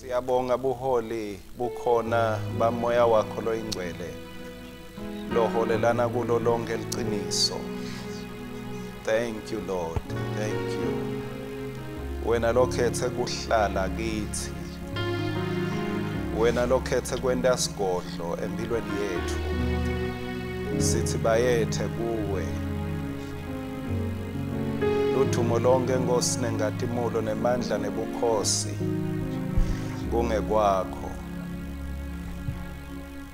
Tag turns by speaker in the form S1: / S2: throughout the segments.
S1: Siyabonga buholi bukhona bamoya wakho loyingcwele loholelana kulo lonke liqiniso. Thank you Lord, thank you. Wena lokhethe kuhlala kithi. Wena lokhethe kwenta sigodlo empilweni yethu. Sithi bayethe kuwe. Ludumo lonke Nkosi nengatimulo nemandla nebukhosi kungekwakho.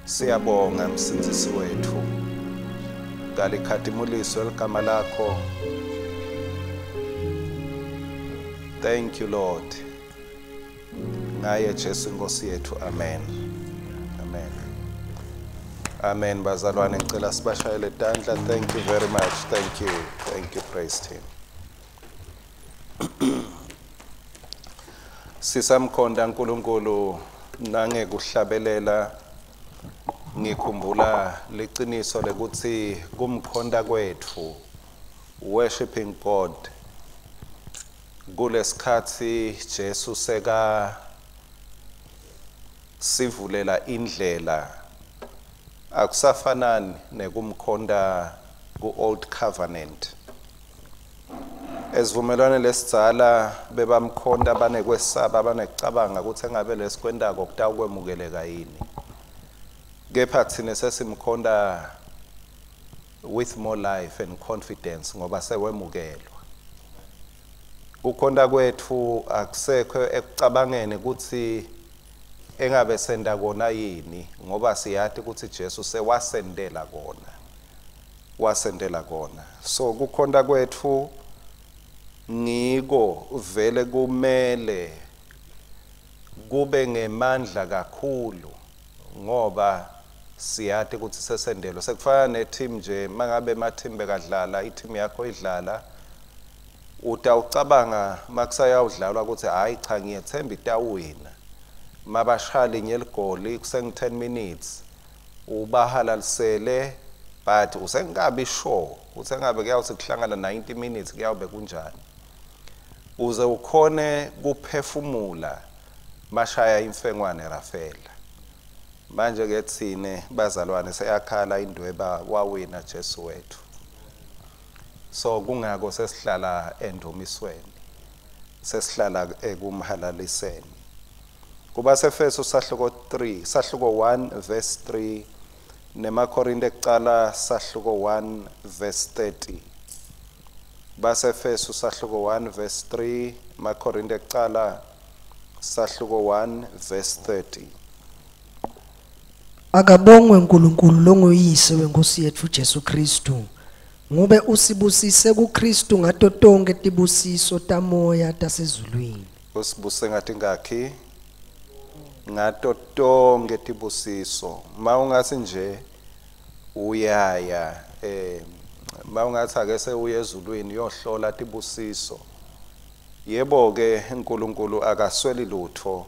S1: Siyabonga msindzisi wethu. Kalikhatimuliswe ligama lakho. Thank you Lord. Ngaye Jesu Nkosi yethu. Amen. Amen. Amen bazalwane, ngicela sibashayele tandla. Thank you very much. Thank you. Thank you praise team. Sisamkhonda uNkulunkulu nangekuhlabelela, ngikhumbula liciniso lekuthi kumkhonda kwethu, worshiping God, kulesikhathi Jesu seka sivulela indlela, akusafanani nekumkhonda ku Old Covenant. Esivumelwane lesidzala bebamkhonda banekwesaba, banekucabanga ukuthi engabe lesikwentako kutawukwemukeleka yini. Kepha thina sesimkhonda with more life and confidence ngoba sewemukelwa. Kukhonda kwethu akusekho ekucabangeni ukuthi engabe senda kona yini, ngoba siyati ukuthi Jesu sewasendela kona. Wasendela kona. So kukhonda kwethu ngiko vele kumele kube ngemandla kakhulu ngoba siyati ukuthi sesendelo. Sekufana ne-team nje, mangabe ema-team bekadlala, i-team yakho idlala, utawucabanga makusayawudlalwa ukuthi hayi cha ngiyethemba itawina. Mabashaya linye ligoli kusengu 10 minutes ubahalalisele, but usengabi sure usengabe kuyawuthi kuhlangana 90 minutes kuyawube kunjani. Uze ukhone kuphefumula mashaya imfengwane Rafela. Manje ke thine bazalwane seyakhala indweba, wawina Jesu wethu. So kungako sesihlala endumisweni, sesihlala ekumhalaliseni. Kubasefeso sahluko 3, sahluko 1 verse 3, nemaKorinte ekucala sahluko 1 verse 30. Basefeso sahluko 1 verse 3, maKorinte ekucala sahluko 1 verse 30.
S2: Akabongwe uNkulunkulu longuyise wenkosi yethu Jesu Kristu, ngobe usibusise kuKristu ngato tonke tibusiso tamoya tasezulwini.
S1: Usibuse ngathi ngakhi? Ngato tonke tibusiso. Mawungathi nje uyaya mawungathi ake sewuye ezulwini uyohlola tibusiso. Yebo ke uNkulunkulu akasweli lutho.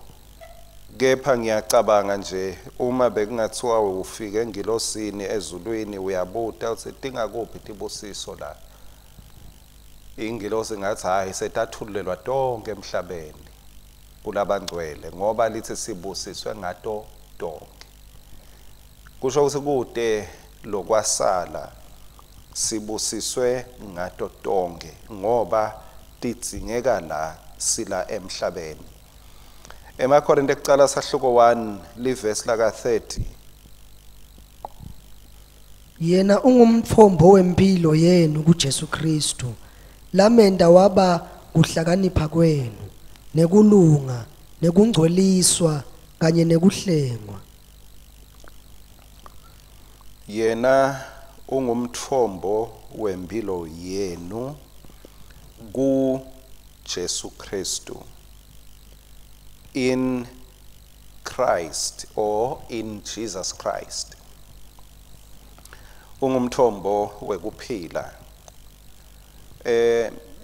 S1: Kepha ngiyacabanga nje uma bekungathiwa ufike engilosini ezulwini uyabuta uthi tingakuphi tibusiso la. Ingilosi ngathi hayi setathulelwa tonke emhlabeni kulabangcwele ngoba lithi sibusiswe ngato tonke. Kusho ukuthi kude lokwasala sibusiswe ngato tonke ngoba tidzingeka la sila emhlabeni. EmaKorinte ekucala sahluko 1 livesi laka 30.
S2: Yena ungumthombo wempilo yenu kuJesu Kristu, lamenda waba kuhlakanipha kwenu nekulunga nekungcweliswa kanye nekuhlengwa.
S1: Yena ungumthombo wempilo yenu ku Jesu Kristu. In Christ or in Jesus Christ. Ungumthombo wekuphila.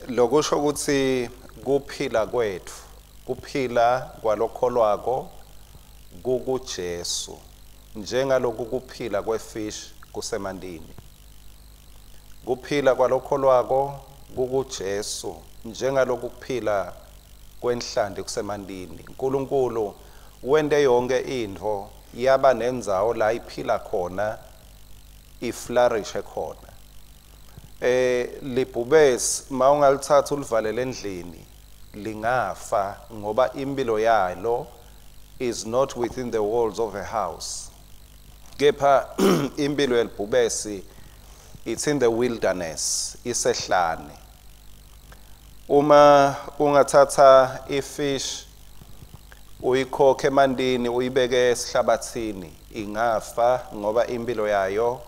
S1: Lokusho ukuthi kuphila kwethu, kuphila kwalokholwako kukuJesu, njengaloku kuphila kwefish kusemandini. Kuphila kwalokholwako kukuJesu, njengaloku kuphila kwenhlanti kusemandini. uNkulunkulu Wente yonke intfo yaba nendzawo la iphila khona, iflourishe khona. Libhubesi mawungalithatha ulivalele endlini lingafa, ngoba impilo yalo is not within the walls of a house. Kepha impilo yelibhubesi, it's in the wilderness, isehlane. Uma ungathatha ifish uyikhokhe emandini, uyibeke esihlabathini, ingafa, ngoba impilo yayo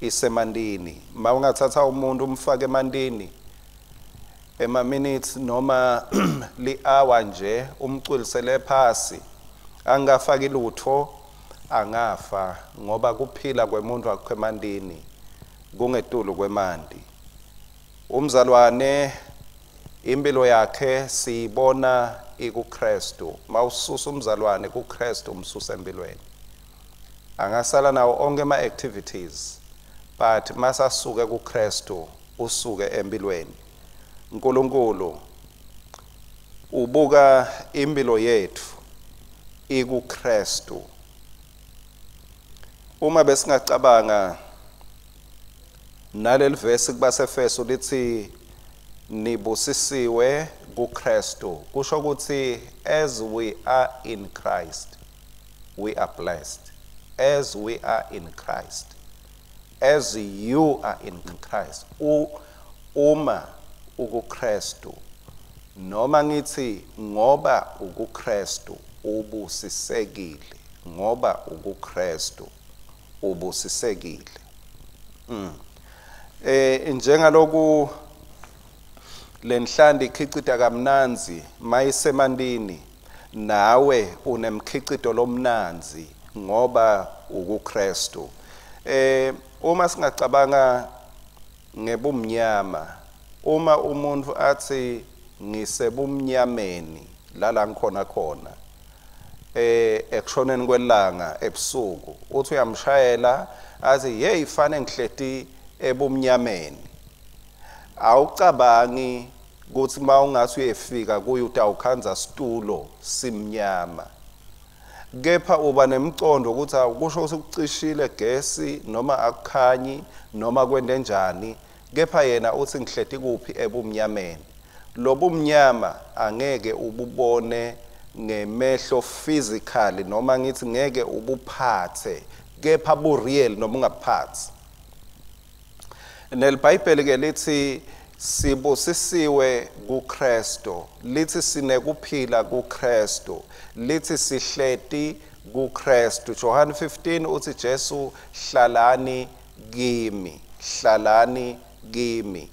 S1: isemandini. Ma ungathatha umuntu umfake emandini ema minutes noma li-hour nje, umcwilisele phasi angafaki lutho, angafa, ngoba kuphila kwemuntu akukho emandini, kungetulu kwemanti. Umzalwane impilo yakhe siyibona ikuKristu. Mawususa umzalwane kuKristu, umsusa empilweni. Angasala nawo onke ama activities, but masasuke kuKristu, usuke empilweni. uNkulunkulu ubuka impilo yethu ikuKristu. Uma besingacabanga naleli verse kubaseFeso lithi nibusisiwe kuKristu, kusho ukuthi as we are in Christ, we are blessed. As we are in Christ, as you are in Christ, uma ukuKristu, noma ngithi ngoba ukuKristu ubusisekile, ngoba ukuKristu ubusisekile. Njengaloku lenhlandi ikhicita kamnanzi mayisemandini, nawe unemkhicito lomnanzi ngoba ukuKristu. Uma singacabanga ngebumnyama, uma umuntu athi ngisebumnyameni lala ngikhona khona ekushoneni kwelanga ebusuku, uthi uyamshayela athi, "Hey, fane ngihleti ebumnyameni." Awucabangi ukuthi mawungathi uyefika kuye utawukhanza situlo simnyama, kepha uba nemcondo ukuthi awukusho ukuthi kucishile gesi noma akukhanyi noma kwente njani, kepha yena uthi ngihleti kuphi? Ebumnyameni. Lobumnyama angeke ububone ngemehlo physically, noma ngithi ngeke ubuphathe, kepha bu real noma ungabuphathi. NeliBhayibheli ke lithi sibusisiwe kuKristu, lithi sinekuphila kuKristu, lithi sihleti kuKristu. John 15 uthi Jesu, "Hlalani kimi, hlalani kimi."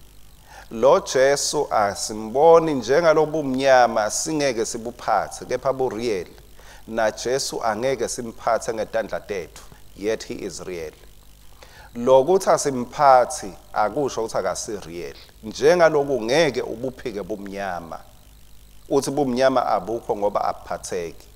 S1: Lo Jesu asimboni njengalobumnyama, singeke sibuphathe, kepha bu real. Na Jesu angeke simphathe ngetandla tethu, yet he is real. Lokuthi asimphathi akusho ukuthi akasi real. Njengaloku ngeke ubuphike bumnyama, uthi bumnyama abukho, ngoba abuphatheki.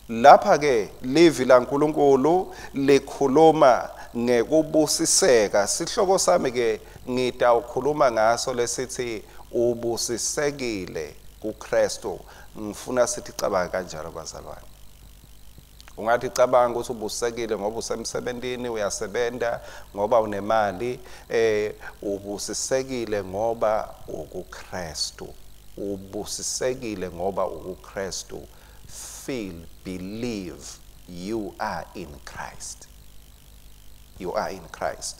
S1: Lapha ke livi laNkuluNkulu likhuluma ngekubusiseka. Sihloko sami ke ngitawukhuluma ngaso lesithi ubusisekile kuKristu. Ngifuna sithi cabanga kanjalo, bazalwane. Ungathi cabanga ukuthi ubusisekile ngoba usemsebentini, uyasebenta, ngoba unemali. Ubusisekile ngoba ukuKristu, ubusisekile ngoba ukuKristu. Feel, believe you are in Christ, you are in Christ.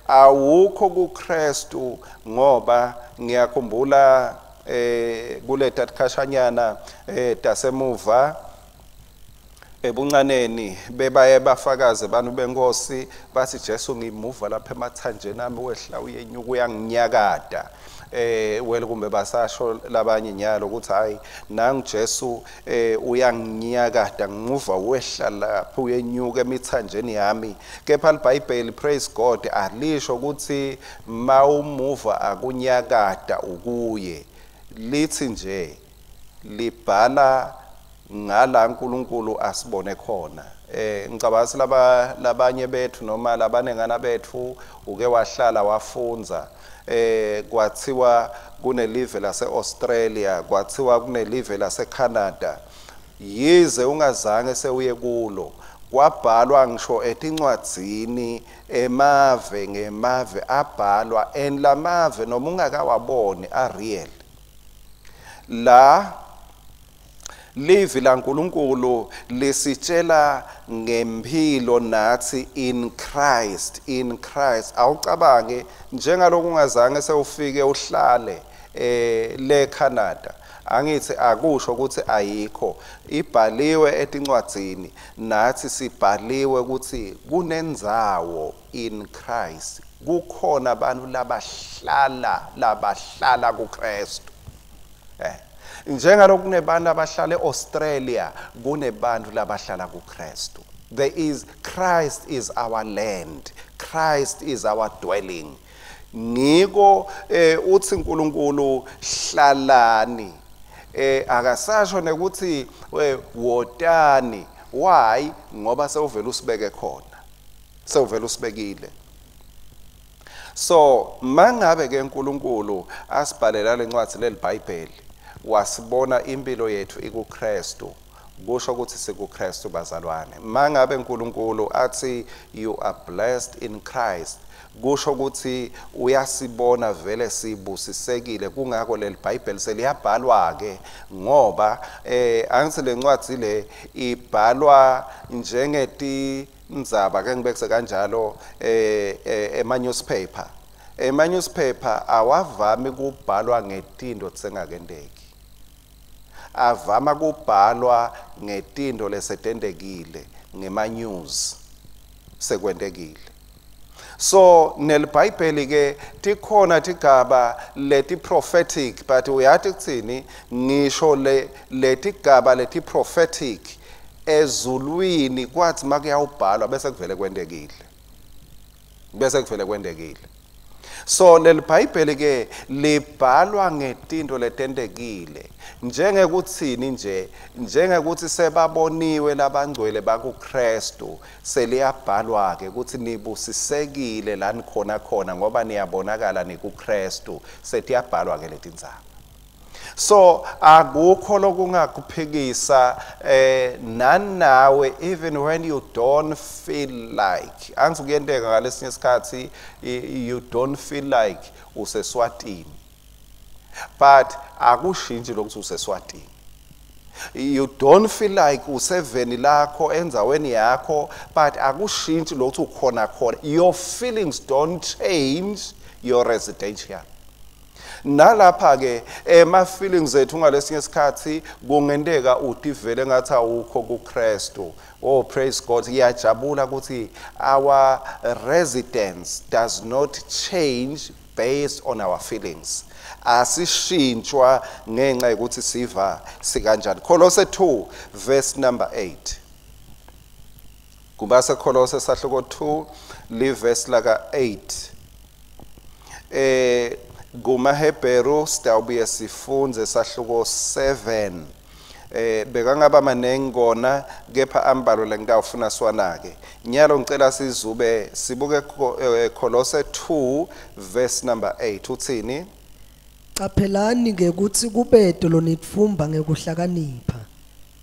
S1: Awukho kuKristu ngoba ngiyakhumbula kuleta tikhashanyana tasemuva ebuncaneni, bebaye bafakaze abantu benkosi bathi, "Jesu ngimuva lapha emathanjeni ami, wehla uyenyuka, uyanginyakada." Well, kumbe basasho labanye nyalo ukuthi hayi, nangu Jesu, uyanginyakada, ngimuva wehla lapha uyenyuka emithanjeni yami. Kepha iBhayibheli, praise God, alisho ukuthi mawumuva akunyakada ukuye. Lithi nje libhala Ngala uNkulunkulu asibone khona. Ngicabanga laba labanye bethu noma labanengana bethu uke wahlala wafunza, kwathiwa kunelive lase Australia, kwathiwa kunelive lase Canada, yize ungazange sewuye kulo, kwabhalwa ngisho etincwadzini, emave ngemave abhalwa, and lamave noma ungakawaboni a real. La livi laNkulunkulu lisitshela ngempilo nathi in Christ, in Christ. Awucabange njengaloku ungazange sewufike uhlale le Canada, angithi akusho ukuthi ayikho, ibhaliwe etincwadzini, nathi sibhaliwe ukuthi kunendzawo in Christ, kukhona abantu labahlala kuKristu. Njengaloku kunebantu abahlala eAustralia, kunebantu labahlala kuKristu. There is Christ is our land, Christ is our dwelling. Ngiko uthi uNkulunkulu hlalani, akasasho nekuthi wotani. Why? Ngoba sewuvela usibeke khona, sewuvela usibekile. So mangabe ke uNkulunkulu asibhalela lencwadi leliBhayibheli, wasibona impilo yethu ikuKristu, kusho ukuthi sikuKristu bazalwane. Mangabe uNkulunkulu athi you are blessed in Christ, kusho ukuthi uyasibona vele sibusisekile. Kungako leli Bible seliyabhalwa ke, ngoba angithi lencwadi le ibhalwa njengeti ndzaba, ke ngibekise kanjalo, ema newspaper. Ema newspaper awavami kubhalwa ngetindo tsengakendeki, avama kubhalwa ngetindo lesetendekile, ngema news sekwentekile. So neliBhayibheli ke tikhona tigaba leti prophetic, but uyathi kuthini, ngisho le letigaba leti prophetic ezulwini kwathi makuyawubhalwa bese kuvele kwentekile, bese kuvele kwentekile. So leliBhayibheli ke libhalwa ngetinto letentekile, njengekuthini nje, njengekuthi sebaboniwe labangcwele bakuKristu, seliyabhalwa ke ukuthi nibusisekile la nikhona khona ngoba niyabonakala nikuKristu, setiyabhalwa ke letindzaba. So akukho lokungakuphikisa nanawe, even when you don't feel like, angithi kuyenteka ngalesinye isikhathi you don't feel like useswatini, but akushintshi lokuthi useswatini. You don't feel like useveni lakho endzaweni yakho, but akushintshi lokuthi ukhona khona. Your feelings don't change your residential. Nalapha ke ema feelings ethu ngalesinye isikhathi kungenteka utivele ngathi awukho kuKristu. Oh, praise God, ngiyajabula ukuthi our residence does not change based on our feelings. Asishintshwa ngenxa yokuthi siva sikanjani. Kolose 2 verse number 8. Kubase Kolose sahluko 2 li verse laka 8. KumaHebheru sitawubuye sifunze sahluko 7. Bekangaba manengi kona, kepha ambalo lengitawufuna siwanake. Nyalo ngicela sizube sibuke Kolose 2 verse number 8. Uthini?
S2: Caphelani ke kutsi kubete lonitfumba ngekuhlakanipha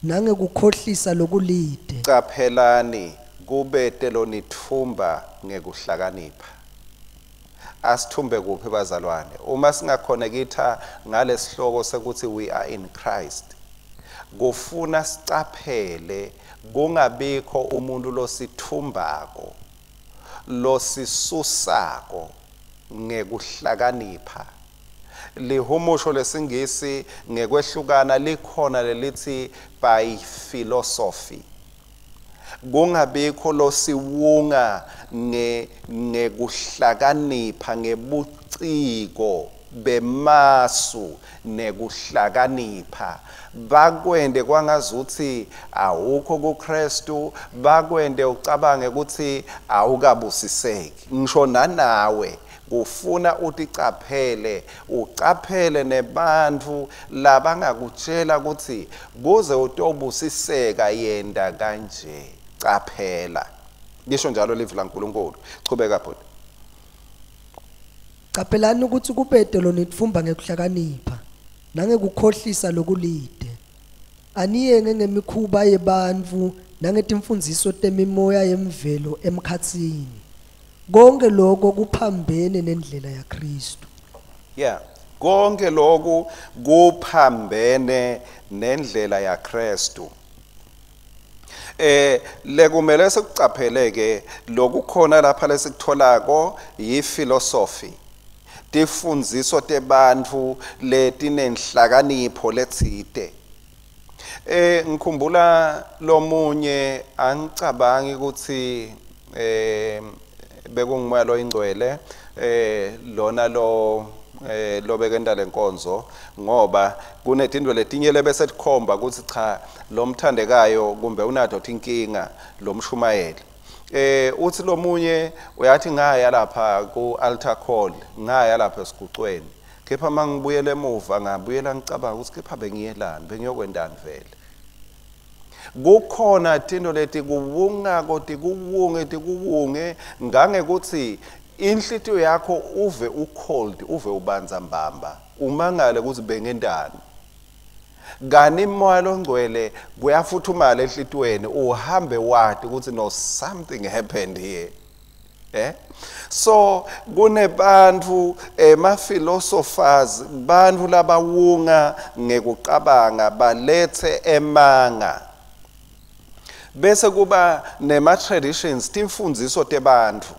S2: nangekukhohlisa lokulide.
S1: Caphelani kubete lonitfumba ngekuhlakanipha. Asithumbe kuphi bazalwane? Uma singakhonekitha ngalesihloko sekuthi we are in Christ, kufuna sicaphele kungabikho umuntu losithumbako, losisusako ngekuhlakanipha. Lihumusho lesingisi ngekwehlukana likhona lelithi by philosophy. Kungabikho losiwunga ngekuhlakanipha, ngebuciko bemasu nekuhlakanipha, bakwende kwangazuthi awukho kuKristu, bakwende ucabange ukuthi awukabusiseki. Ngisho nanawe Kufuna uticaphele, ucaphele nebantfu labangakutshela ukuthi kuze utobusiseka yenda kanje. Caphela. Lisho njalo livi laNkulunkulu. Chubeka bhuti.
S2: Caphelani ukuthi kubete lonitfumba ngekuhlakanipha nangekukhohlisa lokulide. Aniyenge ngemikhuba yebantfu nangetimfundziso temimoya yemvelo emkhatsini. Konke lokho kuphambene nendlela yaKristu.
S1: Yeah, konke lokhu kuphambene nendlela yaKristu. Lekumele sikucaphele ke lokukhona lapha lesikutholako yiphilosophy. Tifundziso tebantfu letinenhlakanipho letsite. Ngikhumbula lomunye, angicabangi ukuthi bekungumoya loyingcwele lona lo lobekenda lenkonzo, ngoba kunetindwe letinye lebese tikhomba ukuthi cha lomthandekayo kumbe unato tinkinga lomshumayeli. Uthi lomunye uyathi ngaya lapha ku altar call, ngaya lapha esigucweni, kepha mangibuyele emuva ngabuyela ngicabanga ukuthi kepha bengiyelani, bengiyokwendani vele. Kukhona tinto leti kuwungako tikuwunge ngangekuthi inhlitiyo yakho uve ucold, uve ubanza mbamba, umangale ukuthi bengendani. Kani moya longcwele kuyafuthumala enhlitiyweni, uhambe wati ukuthi no, something happened here. So kunebantu ema philosophers, bantu labawunga ngekucabanga balethe emanga. Bese kuba nema traditions, timfundziso tebantfu.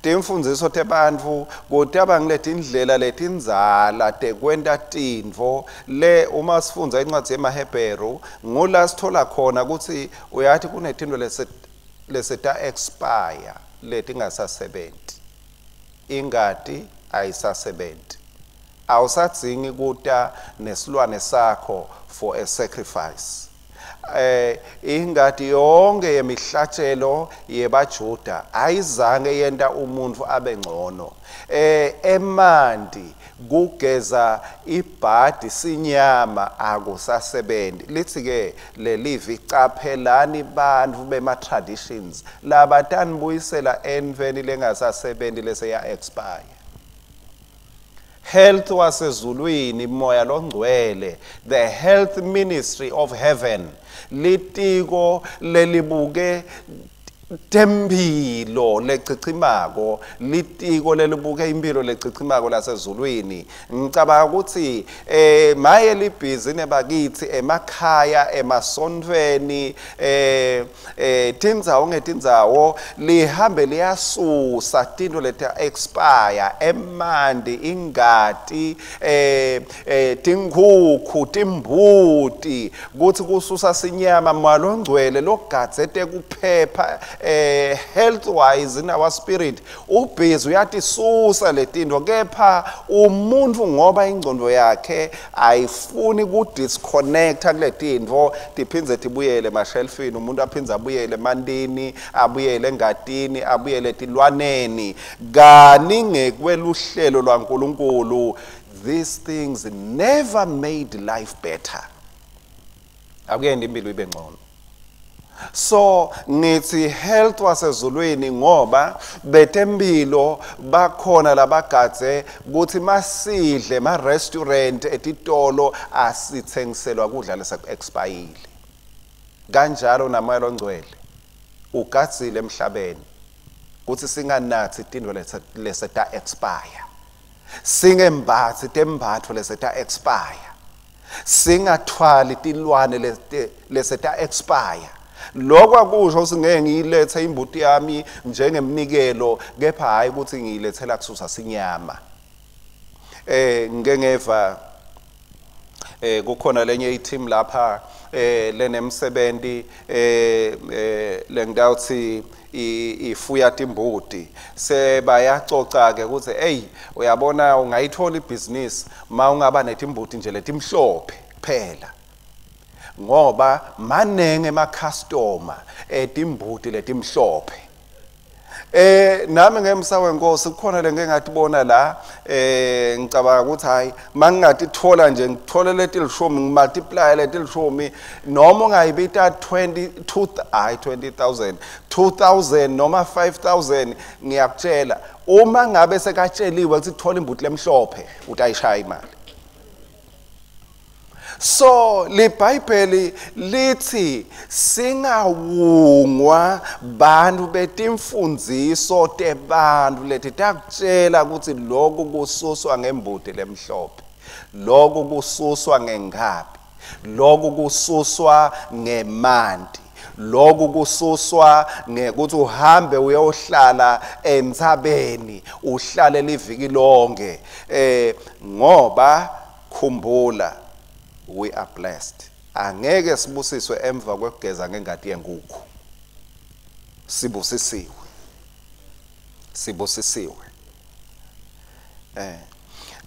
S1: Timfundziso tebantfu kutaba ngiletindlela letindzala tekwenta tintfo. Le uma sifundza incwadi yemaHebheru ngula sithola khona ukuthi uyathi kunetintfo leseta expire letingasasebenti. Ingati ayisasebenti. Awusadzingi kuta nesilwane sakho for a sacrifice. Ingati yonke yemihlatshelo yebaJuda ayizange yenta umuntu abe ngcono. Emanti kugeza ibhadi sinyama akusasebenzi. Lithi ke lelivi, caphelani bantfu bema traditions labatanibuyisela entweni lengasasebenzi leseya expire. Health wasezulwini, moya longcwele, the health ministry of heaven, litiko lelibuke temphilo lechichimako, litiko lelibuke impilo lechichimako lasezulwini. Ngicabanga ukuthi maye libhizi nebakithi emakhaya, emasontfweni, tindzawo ngetindzawo lihambe liyasusa tinto leti expire, emanti, ingati, tinkhukhu, timbuti, kuthi kususa sinyama. Malongcwele logadze kuphepha health wise in our spirit ubhizi uyatisusa letinto, kepha umuntu ngoba ingcondo yakhe ayifuni ku disconnecta kuletinto, tiphindze tibuyele emashelfini, umuntu aphindze abuyele emantini, abuyele engatini, abuyele etilwaneni. Kani ngekweluhlelo lwaNkulunkulu, these things never made life better. Akuyenda impilo ibe ngcono. So ngithi health wasezulwini ngoba betempilo bakhona labagadze ukuthi masidle ma restaurant etitolo asithengiselwa kudla leseku-expire. Kanjalo namoya longcwele ugadzile emhlabeni ukuthi singanathi tintfo leseta expire, singembatsi tembatfo leseta expire, singathwali tilwane leseta expire. Lokho akusho ukuthi ngeke ngiyilethe imbuti yami njengemnikelo, kepha hayi ukuthi ngiyilethela kususa sinyama. Ngike ngeva kukhona lenye i-team lapha lenemsebenzi lengitawuthi ifuya timbuti, sebayacoca ke ukuthi hey, uyabona ungayithola ibhizinisi ma ungaba netimbuti nje letimhlophe kuphela, ngoba manenge ema-customer etimbuti letimhlophe. Nami ngemsa wenkosi kukhona lengeke ngatibona la ngicabanga ukuthi hayi mangingatithola nje ngithole letilishumi ngimultiply letilishumi noma ungayibita 22 hayi 20000 2000 noma 5000 ngiyakutshela uma ngabe sekatsheliwe ukuthi thola imbuti lemhlophe utayishaya imali. So liBhayibheli lithi singawungwa bantu betimfundziso tebantu leti takutshela ukuthi lokhu kususwa ngembuti lemhlophe, lokhu kususwa ngenkabi, lokhu kususwa ngemanti, lokhu kususwa ngekuthi uhambe uyohlala entsabeni uhlale liviki lonke. Ngoba khumbula, we are blessed. Angeke sibusiswe emva kwekugeza ngengadi yenkukhu. Sibusisiwe. Sibusisiwe.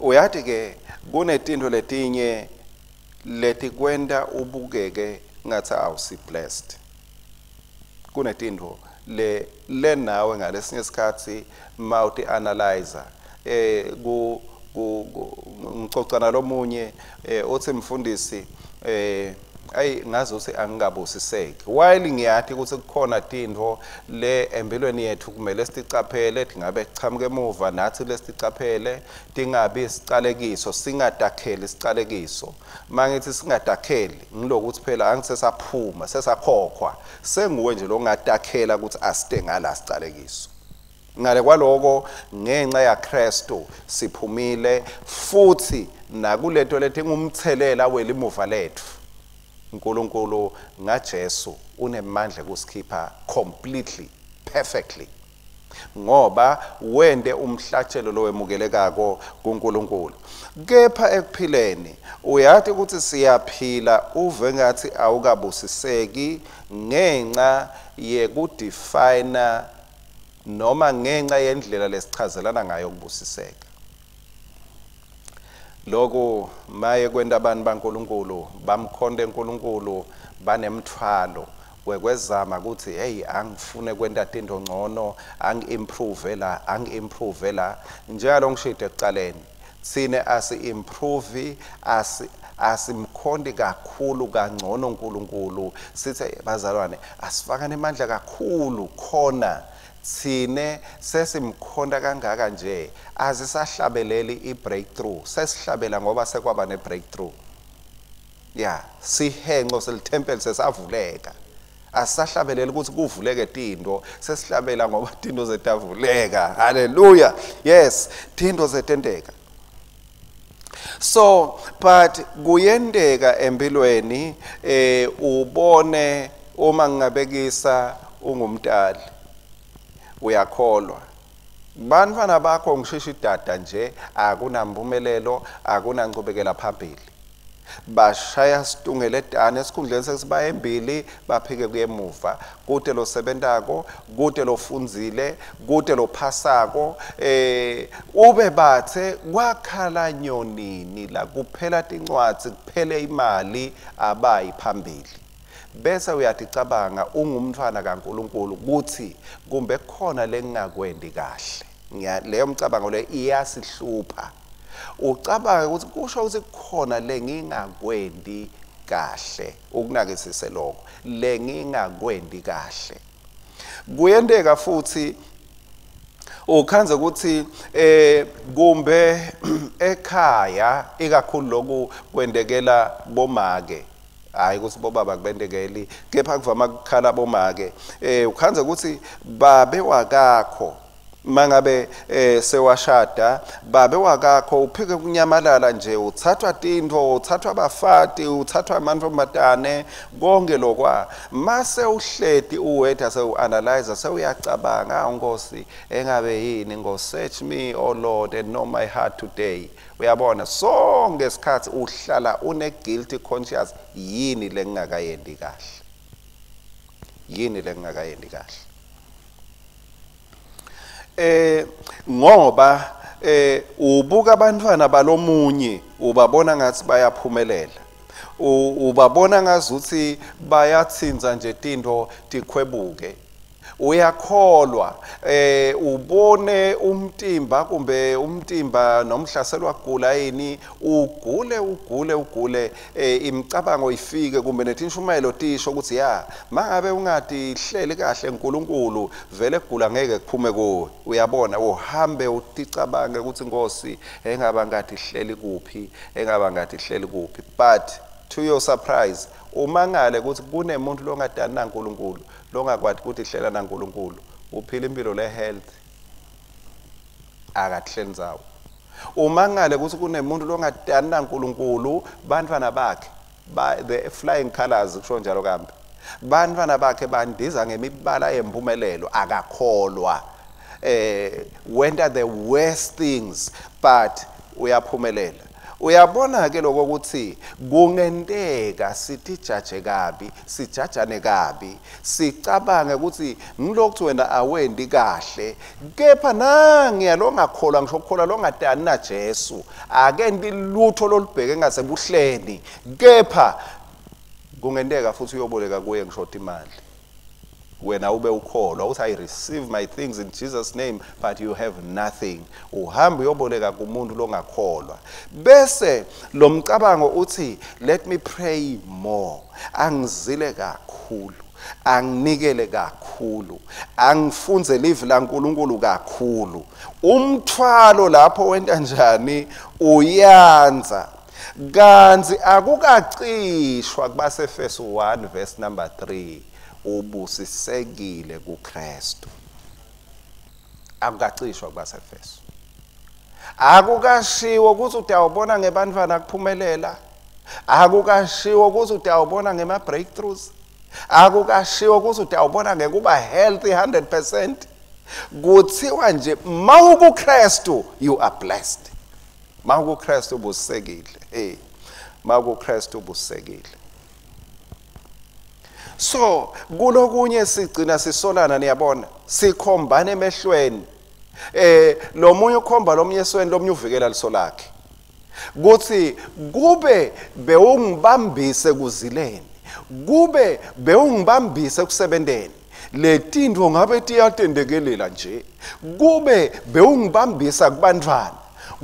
S1: Uyathi ke kunetinto letinye letikwenta ubukeke ngathi awusi blessed. Kunetinto le nawe ngalesinye isikhathi mawuti analyzer ku ngixoxa nalomunye uthi mfundisi ayi ngazi ukuthi angingabusiseki, while ngiyathi ukuthi kukhona tintfo le empilweni yethu kumele siticaphele, tingabe kuchamuka emuva nathi lesiticaphele, tingabi isicalekiso, singadakheli isicalekiso. Mangithi singadakheli ngilokuthi phela angisesaphuma sesakhokhwa, senguwe nje longadakhela ukuthi asite ngala sicalekiso. Ngale kwaloko ngenxa yaKristu siphumile futhi nakuleto lethi ngumthelela welimuva lethu. uNkulunkulu ngaJesu unemandla kusikhipha completely, perfectly, ngoba wende umhlatshelo lowemukelekako kuNkulunkulu. Kepha ekuphileni uyathi ukuthi siyaphila uve ngathi awukabusiseki ngenxa yekudefine noma ngenxa yendlela lesichazelana ngayo ukubusiseka. Lokhu maye kwenta abantu baNkulunkulu bamkhonde uNkulunkulu banemthwalo wekwezama ukuthi hey angifune kwenta tinto ngcono, angi-improve la, angi-improve la. Njalo ngishide ekucaleni sine asi-improve, asimkhondi kakhulu kangcono uNkulunkulu. Sithe bazalwane asifakane amandla kakhulu khona sine sesimkhonda kangaka nje azisahlabeleli i-breakthrough, sesihlabela ngoba sekwaba ne-breakthrough. Ya, sihenqo selithempeli sesavuleka, asisahlabeleli ukuthi kuvuleke tinto, sesihlabela ngoba tinto zetavuleka. Hallelujah. Yes, tinto zetenteka. So but kuyenteka empilweni ubone uma ngingabekisa ungumntali uyakholwa bantwana bakho ngishisha idada nje akunampumelelo, akunanqubekela phambili, bashaya situngeletane esikhundleni sesiba embili baphike kuyemuva, kude losebentako, kude lofundzile, kude lophasako. Ube bathe kwakhala nyonini la kuphela tincwadzi kuphele imali abayi phambili. Bese uyaticabanga ungumntwana kaNkulunkulu kuthi kumbe khona lengingakwendi kahle. Leyo mcabango le iyasihlupha. Ucabanga ukuthi kusho ukuthi khona lengingakwendi kahle, ukunakisise lokho lengingakwendi kahle. Kuyenteka futhi ukhanze ukuthi kumbe ekhaya ikakhulu lokhu kwendekela bomake, hayi ukuthi bobaba kubendekeli kepha kuvama kukhala bomake. Ukhanze ukuthi babe wakakho mangabe sewashada, babe wakakho uphike kunyamalala nje, uthathwa tintfo, uthathwa abafati, uthathwa amantombazane, konke lokwa. Mase uhleti uwetha sewu-analyze sewuyacabanga, Nkosi engabe yini, Nkosi search me O Lord and know my heart today. Uyabona sonke isikhathi uhlala une guilty conscience, yini lengingakayendi kahle, yini lengingakayendi kahle. Ngoba ubuka abantwana balomunye ubabona ngathi bayaphumelela, ubabona ngazuthi bayathinza nje tinto tikhwebuke. Uyakholwa ubone umtimba kumbe umtimba nomhlaselwa kugula yini, ugule ugule ugule, imicabango ifike kumbe netinshumayelo tisho ukuthi ya mangabe ungatihleli kahle uNkulunkulu vele kugula ngeke kuphume kuwe. Uyabona, uhambe uticabange ukuthi Nkosi engaba ngatihleli kuphi, engaba ngatihleli kuphi. But to your surprise, umangale ukuthi kunemuntu longadani naNkulunkulu, longakwati ukuthi hlela naNkulunkulu, uphila impilo le health, akatihleli ndzawo. Umangale ukuthi kunemuntu longadani naNkulunkulu, bantwana bakhe the flying colors, kusho njalo kambe, bantwana bakhe bandiza ngemibala yempumelelo, akakholwa, wenta the worst things but uyaphumelela. Uyabona ke lokho ukuthi kungenteka sitijaje kabi, sijajane kabi, sicabange ukuthi ngilokhu wena awendi kahle, kepha nangiya longakholwa, ngisho ukukholwa longadani na Jesu, akendi lutho lolubheke ngasebuhleni, kepha kungenteka futhi uyoboleka kuye ngisho imali. Wena ube ukholwa uthi I receive my things in Jesus name, but you have nothing. Uhamba uyoboleka kumuntu longakholwa. Bese lo mcabango uthi let me pray more, angizile kakhulu, anginikele kakhulu, angifunze live laNkulunkulu kakhulu. Umthwalo lapho wenta njani? Uyanza. Kanti akukacishwa kubaseEfesu 1 verse number 3, ubusisekile kuKristu. Akukacishwa kubaseEfesu. Akukashiwo ukuthi utawubona ngebantwana kuphumelela, akukashiwo ukuthi utawubona ngema breakthroughs, akukashiwo ukuthi utawubona ngekuba healthy 100%. Kuthiwa nje mawukuKristu you are blessed. MawukuKristu ubusisekile. Hey, mawukuKristu ubusisekile. So kulokunye sigcina sisolana, niyabona, sikhombana emehlweni. Lo munye ukhomba lomunye esweni, lomunye uvikela liso lakhe. Kuthi kube bewungibambise kuzileni, kube bewungibambise kusebenteni, letintfo ngabe tiyatendekelela nje. Kube bewungibambisa kubantwana,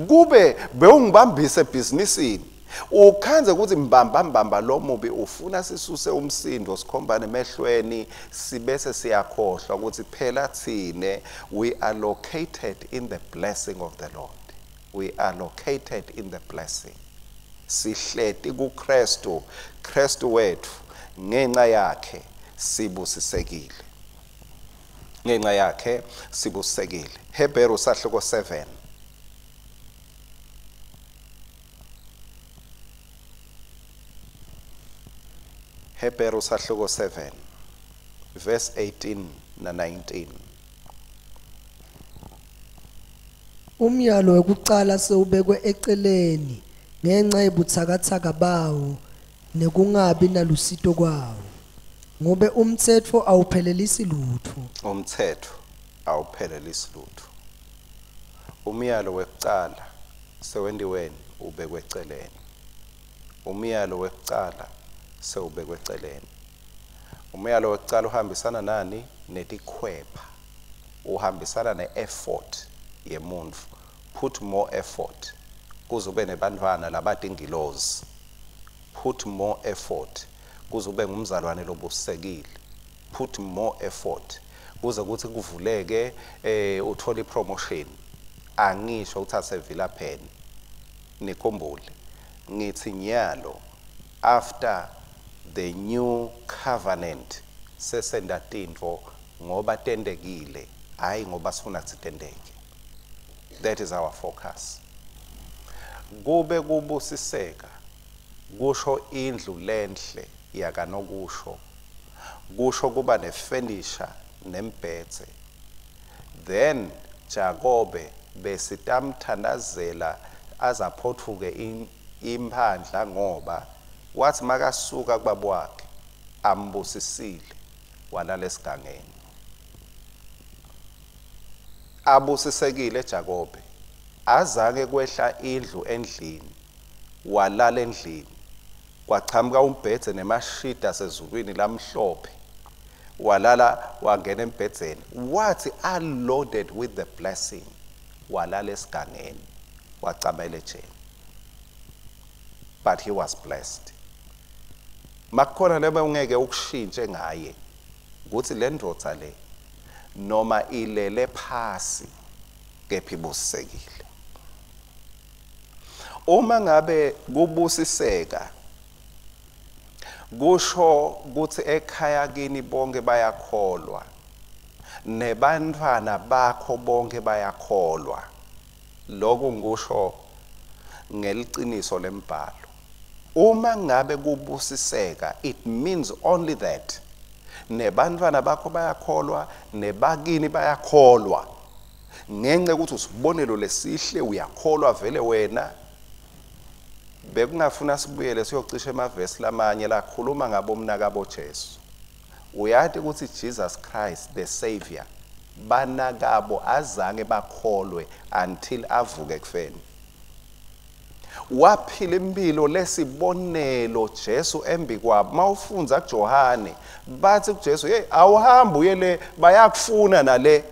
S1: kube bewungibambise ebhizinisini. Ukhanze ukuthi mbamba mbamba lo mubi ufuna sisuse umsindo, sikhombane emehlweni, sibese siyakhohlwa ukuthi phela thine we are located in the blessing of the Lord. We are located in the blessing. Sihleti kuKristu, Kristu wethu, ngenxa yakhe sibusisekile. Ngenxa yakhe sibusisekile. Hebheru sahluko 7. Hebheru sahluko 7 verse 18 na 19.
S2: Umyalo wekucala sewubekwe eceleni ngenxa yebutsakatsaka bawo nekungabi nalusito kwawo, ngobe umtsetfo awuphelelisi lutfo.
S1: Umtsetfo awuphelelisi lutfo. Umyalo wekucala sewentiweni ubekwe eceleni. Umyalo wekucala sewubekwe eceleni. Umyalo wekucala uhambisana nani? Netikhwepha. Uhambisana ne-effort yemuntu. Put more effort kuze ube nebantwana labatingilozi. Put more effort kuze ube ngumzalwane lobusekile. Put more effort kuze kuthi kuvuleke uthole ipromotion. Angisho ukuthi asevila pheni. Nikhumbule ngithi nyalo after the new covenant sesenda tintfo ngoba tendekile, hayi ngoba sifuna sitendeke. That is our focus. Kube kubusiseka kusho indlu lenhle yakanokusho, kusho kuba nefurniture nembhedze. Then Jakobe besitamthandazela azaphothuke imphandla, ngoba wathi makasuka kubaba wakhe ambusisile walala esigangeni. Abusisekile Jakobe, azange kwehla indlu endlini, walala endlini, kwachamuka umbhedze nemashida asezulwini lamhlophe, Walala wangena embhedzeni, wathi unloaded with the blessing, walala esigangeni, wacamela ejeni. But he was blessed. Makukhona lebe ungeke ukushintshe ngaye ukuthi le ndvodza le noma ilele phasi kepha ibusisekile. Uma ngabe kubusiseka kusho ukuthi ekhaya kini bonke bayakholwa, nebantwana bakho bonke bayakholwa. Lokhu ngisho ngeliciniso lembhalo. Uma ngabe kubusiseka, it means only that nebantwana bakho bayakholwa, nebakini bayakholwa. Ngenxa yokuthi usibonelo lesihle, uyakholwa vele wena. Bekungafuna sibuyele siyocisha emavesi lamanye lakhuluma ngabo mnakabo Jesu. Uyati ukuthi Jesus Christ the Savior, banakabo azange bakholwe until avuke ekufeni. Waphila impilo lesibonelo Jesu embi kwabo. Mawufundza kuJohane bathi kuJesu, hey, awuhambi uye le, bayakufuna nale.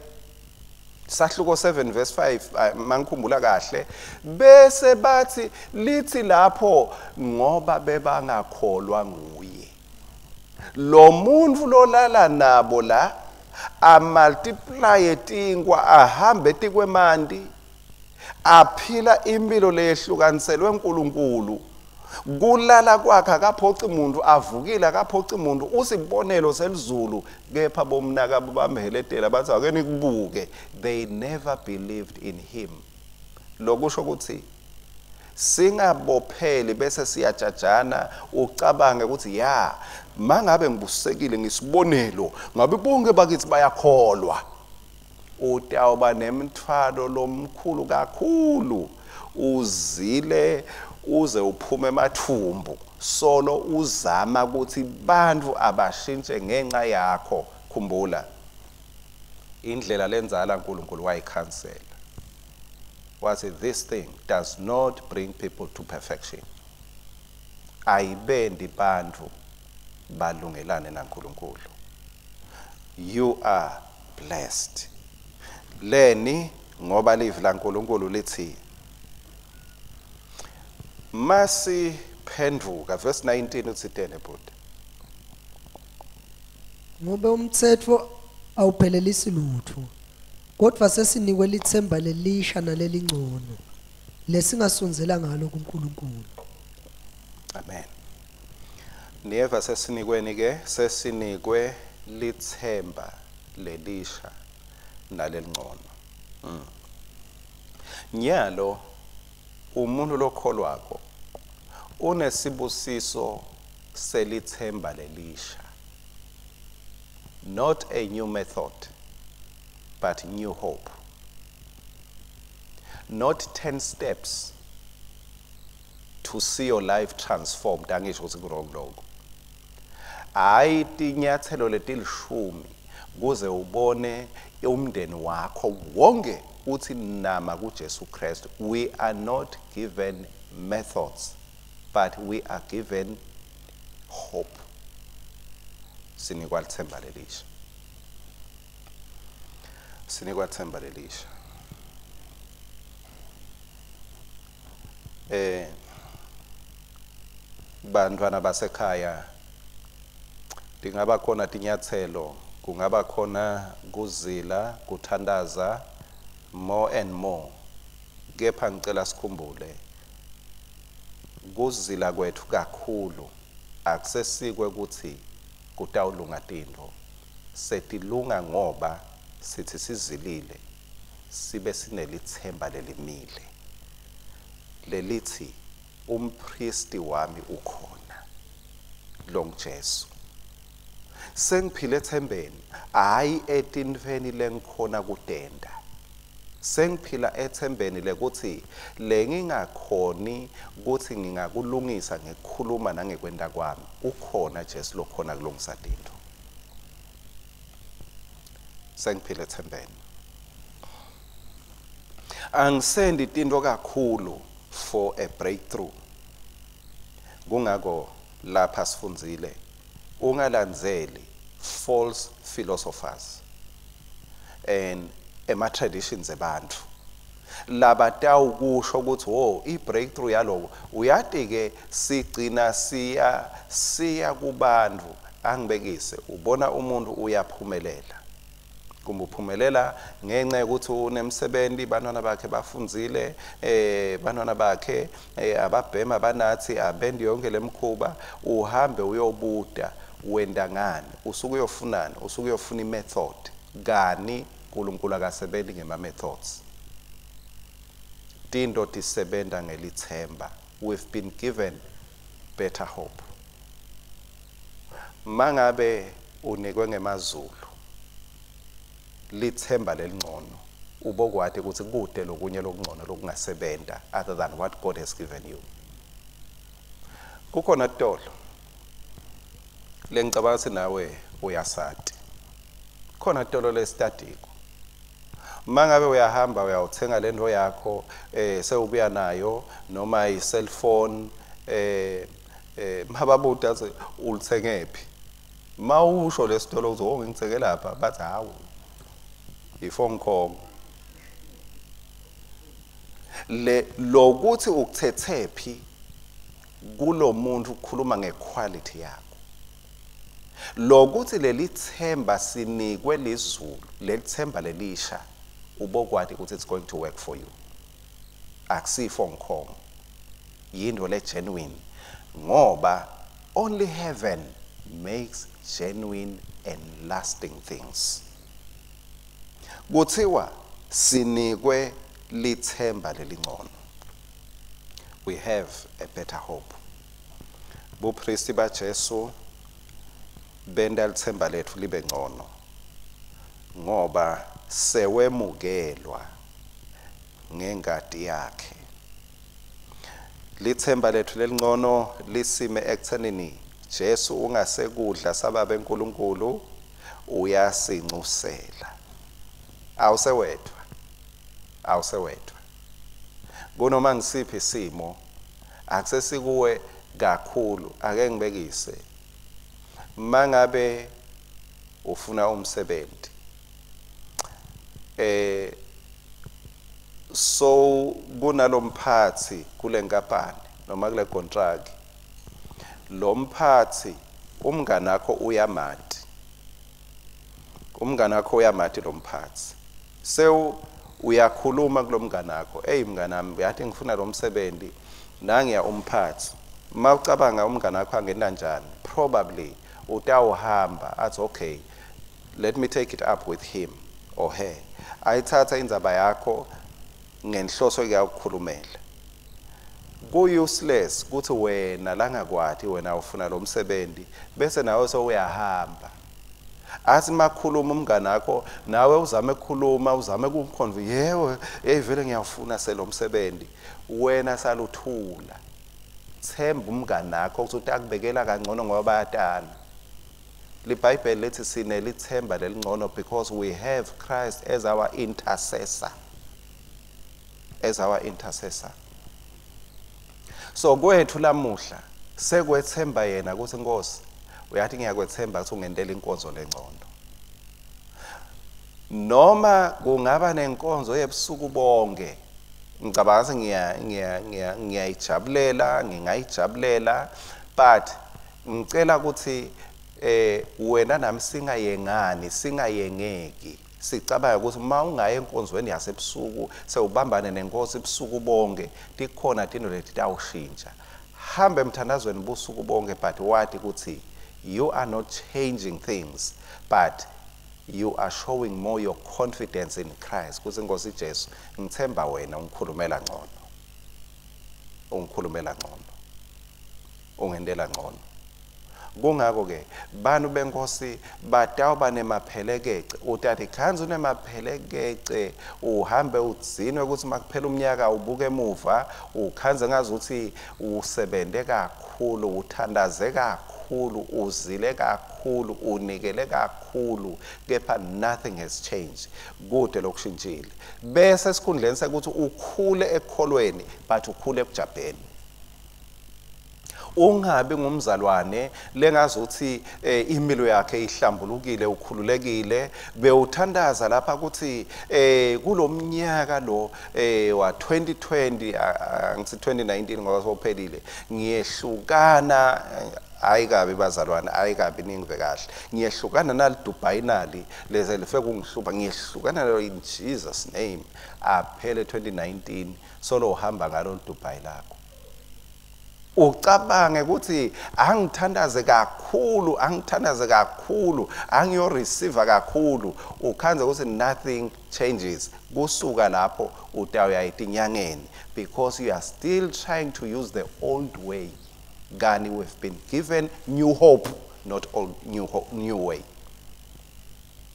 S1: Sahluko 7 verse 5 mangikhumbula kahle, bese bathi lithi lapho ngoba bebangakholwa nguye. Lo muntu lolala nabo la amultiply tinkwa, ahambe tikwemanti, aphila impilo leyehlukaniselwe uNkulunkulu. Kulala kwakhe akaphoci umuntu, avukile akaphoci umuntu, usibonelo selizulu. Kepha bomnakabo bamheletela bathi ake nikubuke. They never believed in him. Lokusho ukuthi singabopheli bese siyajajana, ucabange ukuthi ya mangabe ngibusekile ngisibonelo ngabe bonke bakithi bayakholwa. Utawuba nemthwalo lomkhulu kakhulu, uzile uze uphume emathumbu solo uzama ukuthi bantu abashintshe ngenxa yakho. Khumbula indlela lenzala uNkulunkulu wayikhansela, wathi this thing does not bring people to perfection. Ayibendi bantu balungelane naNkulunkulu. You are blessed. Leni ngoba livi laNkulunkulu lithi masiphenduka, verse 19 uthi tene bhuti.
S2: Ngobe umtsetfo awuphelelisi lutho, kodwa sesinikwe litsemba lelisha nalelingcono lesingasondzela ngalo kuNkulunkulu.
S1: Amen. Niyeva, sesinikweni ke, sesinikwe litsemba lelisha nalelingcono. Nyalo umuntu lokholwako unesibusiso selithemba lelisha. Not a new method, but new hope. Not 10 steps to see your life transformed. Angisho ukuthi ku-wrong lokho. Hayi tinyathelo letilishumi kuze ubone umndeni wakho wonke uthi nama kuJesu Kristu. We are not given methods, but we are given hope. Sinikwa lithemba lelisha. Sinikwa themba lelisha. Bantwana basekhaya, tingaba khona tinyathelo, kungaba khona kuzila, kuthandaza more and more. Kepha ngicela sikhumbule kuzila kwethu kakhulu akusesikwe ukuthi kutawulunga tintfo. Setilunga ngoba sithi sizilile sibe sinelithemba lelimile lelithi umpristi wami ukhona, lo nguJesu. Sengiphile ethembeni, hayi etintfweni lengikhona kutenta. Sengiphila ethembeni lekuthi lengingakhoni ukuthi ngingakulungisa ngekukhuluma nangekwenta kwami, ukhona Jesu lokhona kulungisa tintfo. Sengiphila ethembeni. Angisendi tintfo kakhulu for a breakthrough. Kungako lapha sifundzile ungalandzeli False philosophers and ema traditions abantu labatawukusho ukuthi wo i-breakthrough yaloko uyati ke sigcina siya kubantu. Angibekise, ubona umuntu uyaphumelela, kumbe uphumelela ngenxa yokuthi unemsebenzi, bantwana bakhe bafundzile, bantwana bakhe ababhema banathi abendi yonke lemkhuba. Uhambe uyobuta wenda ngani, usuke uyofunani, usuke uyofuna i-method kani. uNkulunkulu akasebenzi ngema methods, tinto tisebenta ngelithemba. We've been given better hope. Mangabe unikwe ngemazulu lithemba lelingcono, ubokwati ukuthi kude lokunye lokungcono lokungasebenta other than what God has given you. Kukhona tolo lengicabanga ukuthi nawe uyasati, khona tolo lesitadiko. Mangabe uyahamba uyawuthenga lento yakho, sewubuya nayo noma i-cellphone, mababuta athi ulithengephi, mawusho lesitolo uthi oh ngithenge lapha, bathi hawu i-phone call le lokuthi ukuthethephi kulomuntu ukukhuluma ngequality yakho. Lokuthi leli themba sinikwe lizulu, leli themba lelisha, ubokwati ukuthi it's going to work for you. Akusifo ngikhomo, yinto le genuine, ngoba only heaven makes genuine and lasting things. Kuthiwa sinikwe lithemba lelingcono. We have a better hope. Bupristi baJesu benda lithemba lethu libe ngcono, ngoba sewemukelwa ngengadi yakhe. Lithemba lethu lelingcono lisime ekuthenini Jesu ungasekudla sababe eNkulunkulu uyasincusela. Awusewedwa, awusewedwa. Kunoma ngisiphi isimo akusesikuwe kakhulu. Ake ngibekise, mangabe ufuna umsebenzi, so kunalomphathi kule nkampani noma kule contract, lo mphathi umngane wakho uyamati, umngane wakho uyamati lo mphathi. Sewu uyakhuluma kulomngane wakho, hey mngane wami, uyathi ngifuna lo msebenzi, nangiya umphathi. Mawucabanga umngane wakho angena njani, probably utawuhamba athi okay, let me take it up with him or her. Ayithatha indzaba yakho ngenhloso yokukhulumela. Ku-useless ukuthi wena langakwati wena ufuna lo msebenzi, bese nawe sewuyahamba athi makhuluma umngane wakho, nawe uzame ukukhuluma, uzame ukumconvince, yebo hey vele ngiyafuna selo msebenzi, wena saluthula. Themba umngane wakho ukuthi utakubekela kangcono ngoba bayatana. LiBhayibheli lithi sinelithemba lelingcono because we have Christ as our intercessor, as our intercessor. So kwethu lamuhla sekwethemba yena ukuthi Nkosi uyathi ngiyakwethemba ukuthi ungentela inkonzo lengcono. Noma kungaba nenkonzo yebusuku bonke, ngicabanga ukuthi ngiyayijabulela, ngingayijabulela, but ngicela ukuthi wena nami singayengani, singayengeki. Sicabanga ukuthi uma ungaya enkonzweni yasebusuku sewubambane nenkosi ebusuku bonke, tikhona tinto leti tawushintsha. Hamba emthandazweni busuku bonke, but wathi ukuthi you are not changing things, but you are showing more your confidence in Christ. Kuthi Nkosi Jesu, ngithemba wena ungikhulumela ngcono, ungikhulumela ngcono, ungentela ngcono. Kungako ke bantu benkosi batawuba nemaphelekece. Utati khanzi unemaphelekece, uhambe udzinwe ukuthi makuphela umnyaka ubuke emuva ukhanze ngazuthi usebente kakhulu, uthandaze kakhulu, uzile kakhulu, unikele kakhulu, kepha nothing has changed. Kude lokushintshile. Bese esikhundleni sekuthi ukhule ekukholweni, but ukhule ekujabheni. Ungabi ngumzalwane lengazuthi imilo yakhe ihlambulukile, ukhululekile, bewuthandaza lapha ukuthi kulomnyaka lo wa 2020, angithi 2019 ngoba sophelile, ngiyehlukana. Hayi kabi bazalwane, hayi kabi, ningive kahle. Ngiyehlukana nali Dubai nali leze life kungihlupha, ngiyehlukana nalo in Jesus name. Aphele 2019 solo uhamba ngalo Dubai lakho. Ucabange ukuthi angithandaze kakhulu, angithandaze kakhulu, angiyo receive kakhulu, ukhanze ukuthi nothing changes. Kusuka lapho utawuya etinyangeni because you are still trying to use the old way. Kani we've been given new hope, not old new hope, new way.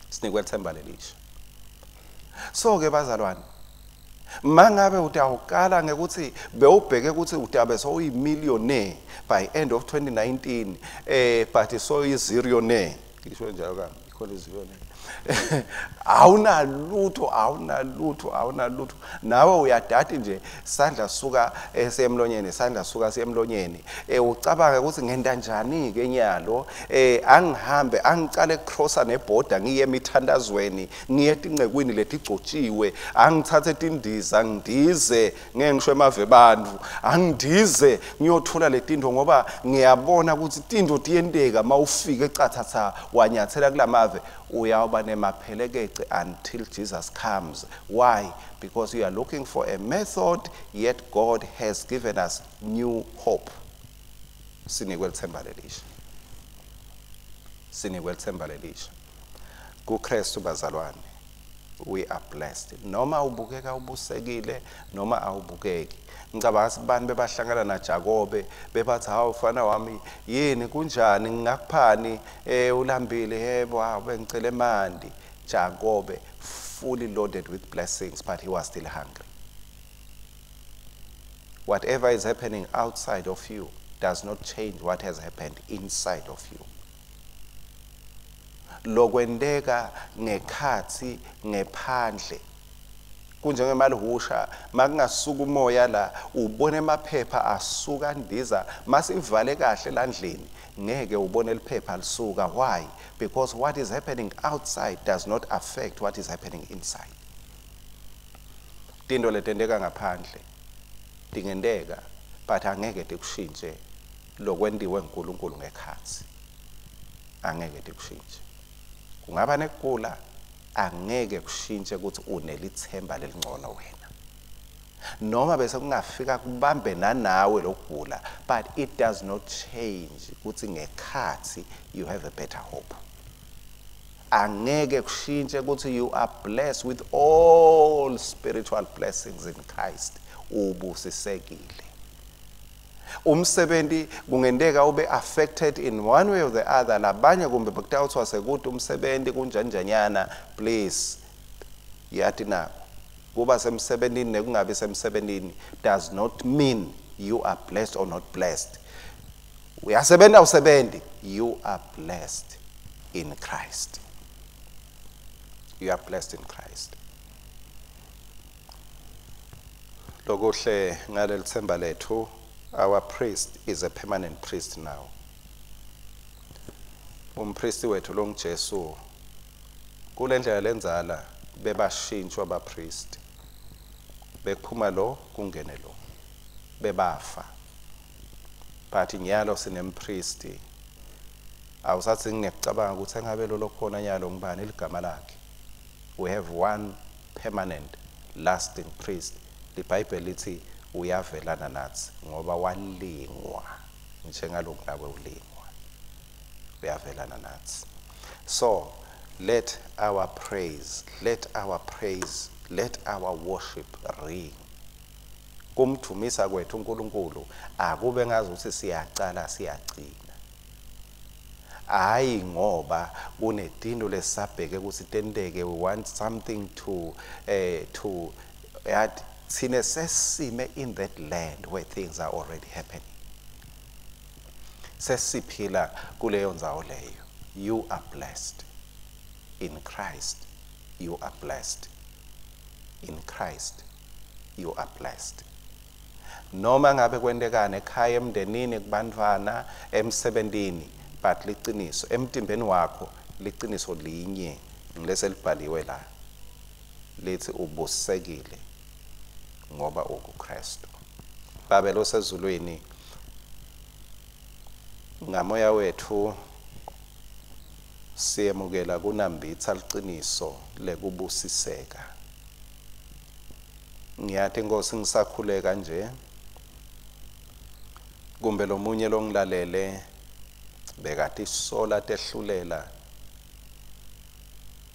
S1: Sinikwe ithemba lelisha. So ke bazalwane, mangabe utawukala ngekuthi bewubheke ukuthi utabe sowuyimillionaire by end of 2019, but soyi-zillionaire, ngisho njalo kami, ikhona i-zillionaire, awunalutho, awunalutho, awunalutho, nawe uyadati nje, sandla suka esemlonyeni, sandla suka semlonyeni, ucabange ukuthi ngenta njani ke nyalo, angihambe angicale crosser nebhoda, ngiye emithandazweni, ngiye etincekwini letigcotshiwe, angithathe tindiza ngidize, ngeke ngisho emave bantu, angidize ngiyothola letinto ngoba ngiyabona ukuthi tinto tiyenteka mawufika ecathatha wanyathela kulamave, uyawuba nemaphelekece until Jesus comes. Why? Because you are looking for a method, yet God has given us new hope. Sinikwe lithemba lelisha, sinikwe lithemba lelisha kuKristu. Bazalwane, we are blessed, noma ubukeka ubusekile noma awubukeki. Ngicabanga ukuthi bani bebahlangana naJakobe bebathi, "Hawu mfana wami, yini, kunjani, ngingakuphani? Ulambile? Yebo, hawu, bengicela emanti." Jakobe fully loaded with blessings, but he was still hungry. Whatever is happening outside of you does not change what has happened inside of you. Lokwenteka ngekhathi ngephandle kunjengemalihusha, makungasuka umoya la ubone emaphepha asuka ndiza, masivale kahle landlini ngeke ubone liphepha lisuka. Why? Because what is happening outside does not affect what is happening inside. Tinto letenteka ngaphandle tingenteka, but angeke tikushintshe lokwentiwe nguNkulunkulu ngekhathi, angeke tikushintshe. Kungaba nekugula, angeke kushintshe ukuthi unelithemba lelingcono wena, noma bese kungafika kubambe nanawe lokugula, but it does not change ukuthi ngekhathi you have a better hope. Angeke kushintshe ukuthi you are blessed with all spiritual blessings in Christ. Ubusisekile. Umsebenzi kungenteka ube affected in one way or the other, labanye kumbe bekutawuthiwa sekude umsebenzi kunjanjanyana. Please, yathi nako kuba semsebentini nekungabi semsebentini does not mean you are blessed or not blessed. Uyasebenza, usebenzi, you are blessed in Christ. You are blessed in Christ. Lokuhle ngaleli themba lethu, our priest is a permanent priest now. Umpristi wethu lo nguJesu. Kule ndlela lenzala bebashintshwa abapristi, bekuphuma lo kungene lo, bebafa, but nyalo sinempristi. Awusathi ngiyacabanga ukuthi engabe lo lokhona nyalo ngibani ligama lakhe. We have one permanent lasting priest. LiBhayibheli lithi uyavelana nathi ngoba walingwa njengaloku nawe ulingwa, uyavelana nathi. So let our praise, let our praise, let our worship ring. Kumdumisa kwethu uNkulunkulu akube ngazi ukuthi siyacala siyagcina, hayi ngoba kunetinto lesabheke ukuthi tenteke. We want something to yathi thine sesime in that land where things are already happening. Sesiphila kuleyo ndzawo leyo. You are blessed in Christ. You are blessed in Christ. You are blessed. Noma ngabe kwentekani ekhaya, emndenini, kubantfwana, emsebentini, but liciniso emtimbeni wakho, liciniso linye ngileselibhaliwe la lithi ubusekile ngoba ukuKristu. Babe losezulwini, ngamoya wethu siyemukela kunambitsa liciniso lekubusiseka. Ngiyathi Nkosi, ngisakhuleka nje, kumbe lomunye longilalele bekatisola tehlulela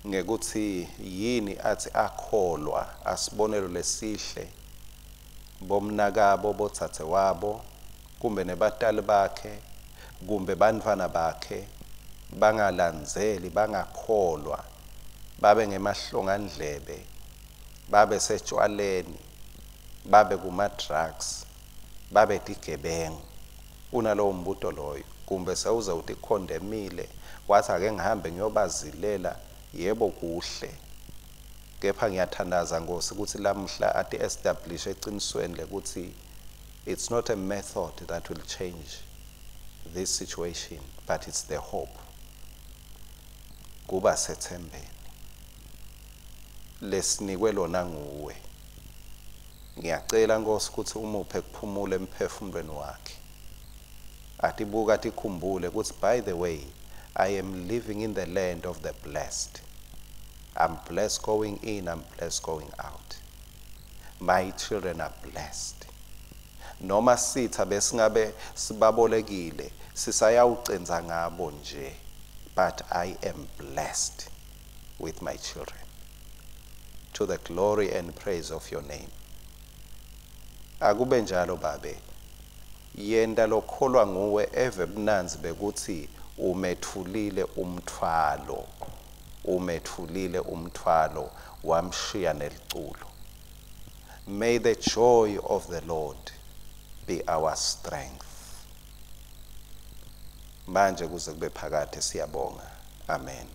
S1: ngekuthi yini athi akholwa asibonelo lesihle bomnakabo, botsatse wabo, kumbe nebatali bakhe, kumbe bantfwana bakhe bangalandzeli, bangakholwa, babe ngemahlongandlebe, babe setshwaleni, babe kuma-drugs, babe tigebengu. Unalowo mbuto loyo, kumbe sewuze utikhondemile wathi ake ngihambe ngiyobazilela. Yebo, kuhle, kepha ngiyathandaza Nkosi ukuthi lamhla ati establish eqinisweni lekuthi it's not a method that will change this situation, but it's the hope, kuba sethembeni lesinikwe lona nguwe. Ngiyacela Nkosi ukuthi umuphe kuphumula emphefumulweni wakhe, atibuka atikhumbule ukuthi by the way, I am living in the land of the blessed. I'm blessed going in, I'm blessed going out. My children are blessed. Noma sitha besingabe sibabolekile, sisayawucenza ngabo nje, but I am blessed with my children to the glory and praise of your name. Akube njalo, Babe. Yenta lokholwa nguwe eve bunanzi bekuthi umethulile umthwalo, umethulile umthwalo, wamshiya neliculo. May the joy of the Lord be our strength manje kuze kube phakade. Siyabonga, amen.